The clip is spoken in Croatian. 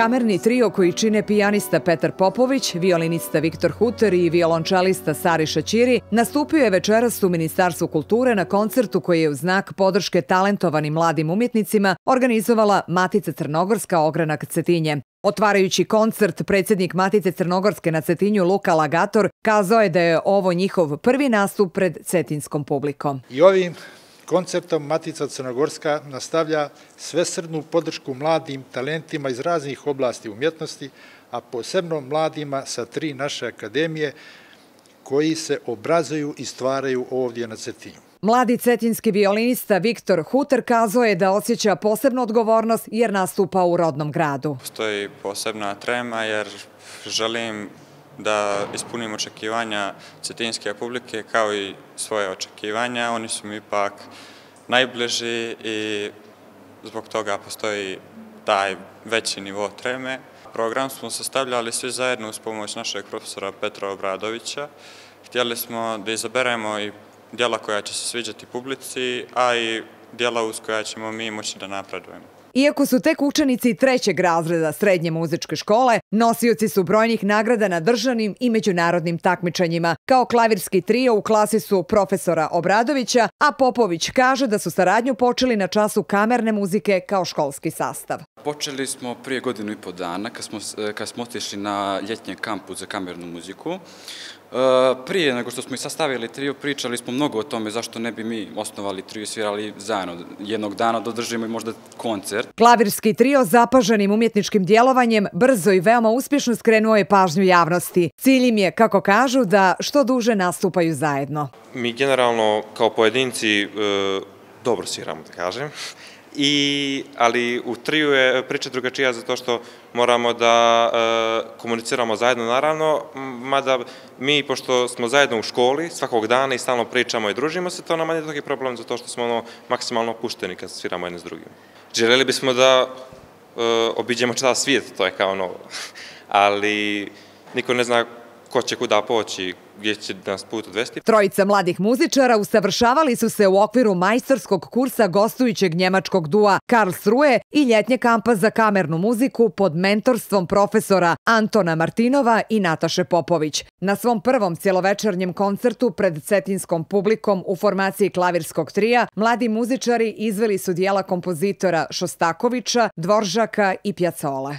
Kamerni trio koji čine pijanista Petar Popović, violinista Viktor Huter i violončelista Sariša Ćiri nastupio je večeras u Ministarstvu kulture na koncertu koji je u znak podrške talentovanim mladim umjetnicima organizovala Matica Crnogorska Ogranak Cetinje. Otvarajući koncert, predsjednik Matice Crnogorske na Cetinju Luka Lagator kazao je da je ovo njihov prvi nastup pred cetinskom publikom. I ovim koncertom Matica Crnogorska nastavlja svesrdnu podršku mladim talentima iz raznih oblasti umjetnosti, a posebno mladima sa 3 naše akademije koji se obrazuju i stvaraju ovdje na Cetinju. Mladi cetinski violinista Viktor Huter kazao je da osjeća posebnu odgovornost jer nastupa u rodnom gradu. Postoji posebna trema jer želim da ispunim očekivanja cetinske publike kao i svoje očekivanja. Oni su mi ipak najbliži i zbog toga postoji taj veći nivo treme. Program smo sastavljali svi zajedno uz pomoć našeg profesora Petra Obradovića. Htjeli smo da izaberemo i djela koja će se sviđati publici, a i djela uz koja ćemo mi moći da napredujemo. Iako su tek učenici 3. razreda srednje muzičke škole, nosioci su brojnih nagrada na državnim i međunarodnim takmičenjima. Kao klavirski trio u klasi su profesora Obradovića, a Popović kaže da su saradnju počeli na času kamerne muzike kao školski sastav. Počeli smo prije 1,5 godina kad smo otišli na ljetnji kampus za kamernu muziku. Prije nego što smo i sastavili trio, pričali smo mnogo o tome zašto ne bi mi osnovali trio i svirali zajedno. Jednog dana dodržimo i možda koncert. Klavirski trio zapaženim umjetničkim djelovanjem brzo i veoma uspješno skrenuo je pažnju javnosti. Cilj im je, kako kažu, da što duže nastupaju zajedno. Mi generalno kao pojedinci dobro sviramo, da kažem. Ali u triju je priča drugačija zato što moramo da komuniciramo zajedno naravno, mada mi, pošto smo zajedno u školi svakog dana i stalno pričamo i družimo se, to nam je toki problem zato što smo maksimalno opušteni kad sviramo jedni s drugim. Željeli bismo da obiđemo čitav svijet, to je kao novo, ali niko ne zna ko će kuda poći, gdje će nas put odvesti. Trojica mladih muzičara usavršavali su se u okviru majstorskog kursa gostujućeg njemačkog dua Karlsruhe i ljetnje kampa za kamernu muziku pod mentorstvom profesora Antona Martinova i Nataše Popović. Na svom prvom cjelovečernjem koncertu pred cetinskom publikom u formaciji klavirskog trija, mladi muzičari izveli su dijela kompozitora Šostakovića, Dvoržaka i Pjacole.